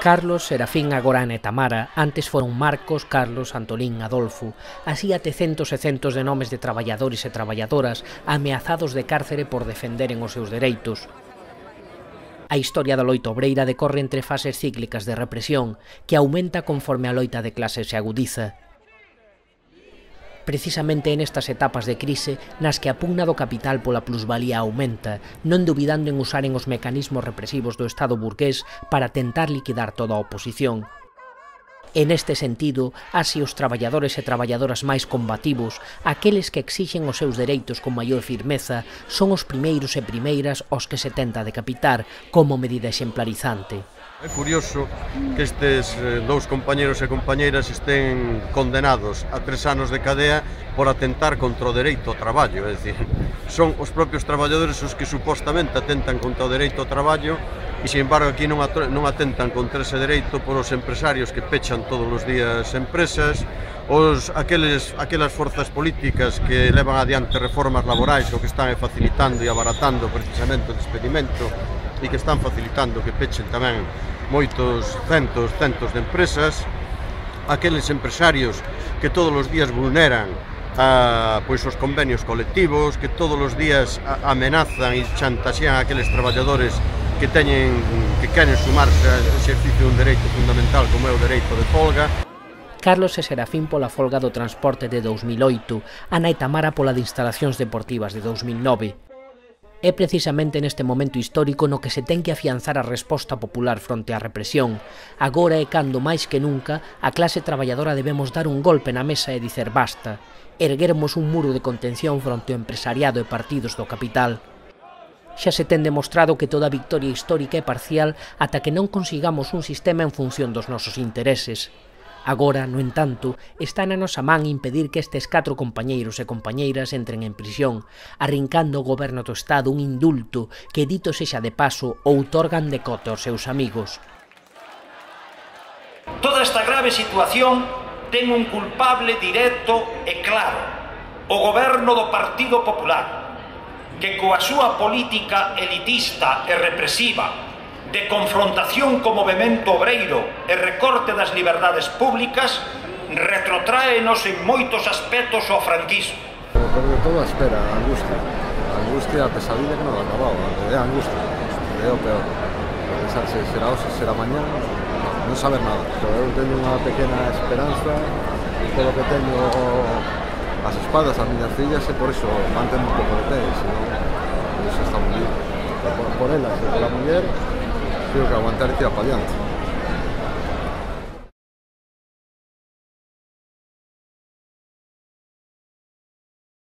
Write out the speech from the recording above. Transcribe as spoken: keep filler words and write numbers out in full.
Carlos, Serafín, agora Ana e Tamara, antes foron Marcos, Carlos, Antolín, Adolfo, así até centos e centos de nomes de traballadores e traballadoras ameazados de cárcere por defenderen os seus dereitos. A historia da loita obreira decorre entre fases cíclicas de represión que aumenta conforme a loita de clases se agudiza. Precisamente nestas etapas de crise nas que a pugna do capital pola plusvalía aumenta, non dubidando en usaren os mecanismos represivos do Estado burgués para tentar liquidar toda a oposición. En este sentido, así os traballadores e traballadoras máis combativos, aqueles que exixen os seus dereitos con maior firmeza, son os primeiros e primeiras aos que se tenta decapitar como medida exemplarizante. É curioso que estes dous compañeros e compañeiras estén condenados a tres anos de cadea por atentar contra o dereito ao traballo, é dicir, son os propios traballadores os que supostamente atentan contra o dereito ao traballo e, sin embargo, aquí non atentan contra ese dereito por os empresarios que pechan todos os días empresas, os, aqueles, aquelas forzas políticas que levan adiante reformas laborais o que están facilitando e abaratando precisamente o despedimento e que están facilitando que pechen tamén moitos centos, centos de empresas, aqueles empresarios que todos os días vulneran a, pois, os convenios colectivos, que todos os días a, amenazan e chantaxean a aqueles traballadores que teñen, que queren sumarse ao exercicio dun dereito fundamental como é o dereito de folga. Carlos e Serafín pola folga do transporte de dous mil oito, Ana e Tamara pola de instalacións deportivas de dous mil nove. É precisamente neste momento histórico no que se ten que afianzar a resposta popular fronte á represión. Agora é cando, máis que nunca, a clase traballadora debemos dar un golpe na mesa e dicer basta, erguermos un muro de contención fronte ao empresariado e partidos do capital. Xa se ten demostrado que toda victoria histórica é parcial ata que non consigamos un sistema en función dos nosos intereses. Agora, no entanto, está na nosa man impedir que estes catro compañeiros e compañeiras entren en prisión, arrincando ao goberno do Estado un indulto que, dito sexa de paso, outorgan de cote aos seus amigos. Toda esta grave situación ten un culpable directo e claro, o goberno do Partido Popular, que coa súa política elitista e represiva de confrontación co movemento obreiro e recorte das liberdades públicas, retrotráenos en moitos aspectos ao franquismo. Por de todo a espera, a angustia, a angustia, a pesadilla que non acababa, é a angustia, é o peor. Pensar se será hoxe, será mañá, non saber nada. Pero eu teño unha pequena esperanza, polo que teño as espadas, as miñas fillas, e por iso mantendo un pouco de pé, senón, iso está moi bien. Por, por elas e por a muller, tengo que aguantar e tirar para adiante.